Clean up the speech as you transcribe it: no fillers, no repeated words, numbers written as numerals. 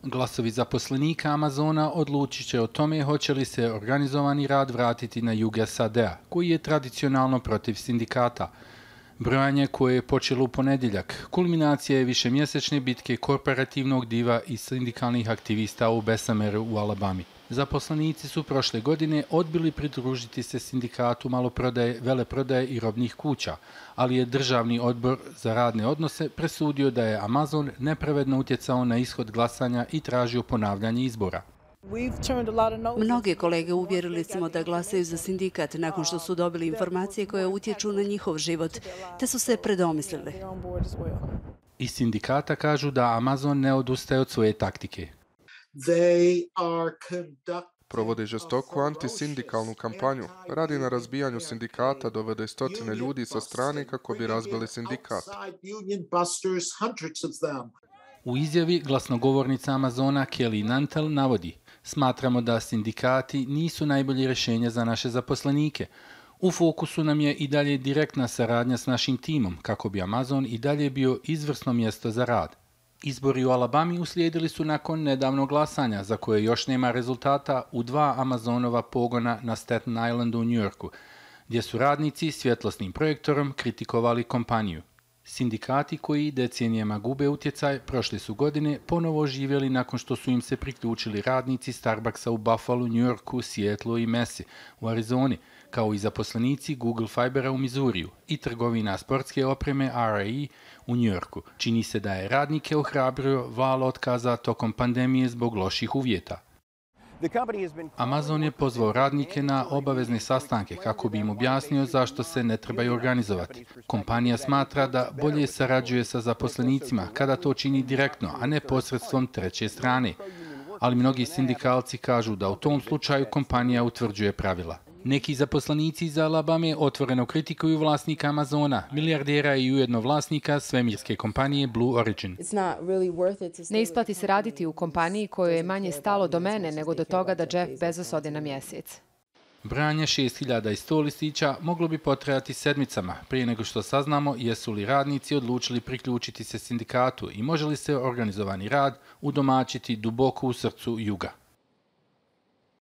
Glasovi zaposlenika Amazona odlučit će o tome hoće li se organizovani rad vratiti na jug SAD-a, koji je tradicionalno protiv sindikata. Brojanje koje je počelo u ponedjeljak, kulminacija je višemjesečne bitke korporativnog diva i sindikalnih aktivista u Bessemeru u Alabami. Zaposlenici su prošle godine odbili pridružiti se sindikatu maloprodaje, veleprodaje i robnih kuća, ali je Državni odbor za radne odnose presudio da je Amazon nepravedno utjecao na ishod glasanja i tražio ponavljanje izbora. Mnoge kolege uvjerili smo da glasaju za sindikat nakon što su dobili informacije koje utječu na njihov život, te su se predomislili. Iz sindikata kažu da Amazon ne odustaje od svoje taktike. Provode žestoku antisindikalnu kampanju. Radi na razbijanju sindikata, dovede stotine ljudi sa strane kako bi razbili sindikat. U izjavi glasnogovornica Amazona Kelly Nantel navodi: "Smatramo da sindikati nisu najbolje rješenje za naše zaposlenike. U fokusu nam je i dalje direktna saradnja s našim timom kako bi Amazon i dalje bio izvrsno mjesto za rad." Izbori u Alabami uslijedili su nakon nedavnog glasanja, za koje još nema rezultata, u 2 Amazonova pogona na Staten Islandu u New Yorku, gdje su radnici svjetlosnim projektorom kritikovali kompaniju. Sindikati koji decenijama gube utjecaj prošle su godine ponovo oživjeli nakon što su im se priključili radnici Starbucksa u Buffalo, New Yorku, Seattlu i Mesi u Arizoni, kao i zaposlenici Google Fibera u Missouriju i trgovina sportske opreme RAE u New Yorku. Čini se da je radnike ohrabrio val otkaza tokom pandemije zbog loših uvjeta. Amazon je pozvao radnike na obavezne sastanke kako bi im objasnio zašto se ne trebaju organizovati. Kompanija smatra da bolje sarađuje sa zaposlenicima kada to čini direktno, a ne posredstvom treće strane. Ali mnogi sindikalci kažu da u tom slučaju kompanija utvrđuje pravila. Neki zaposlenici iz Alabame otvoreno kritikuju vlasnika Amazona, milijardera i ujedno vlasnika svemirske kompanije Blue Origin. Ne isplati se raditi u kompaniji kojoj je manje stalo do mene nego do toga da Jeff Bezos ode na mjesec. Branje 6100 listića moglo bi potrajati sedmicama prije nego što saznamo jesu li radnici odlučili priključiti se sindikatu i može li se organizovani rad udomaćiti duboko u srcu juga.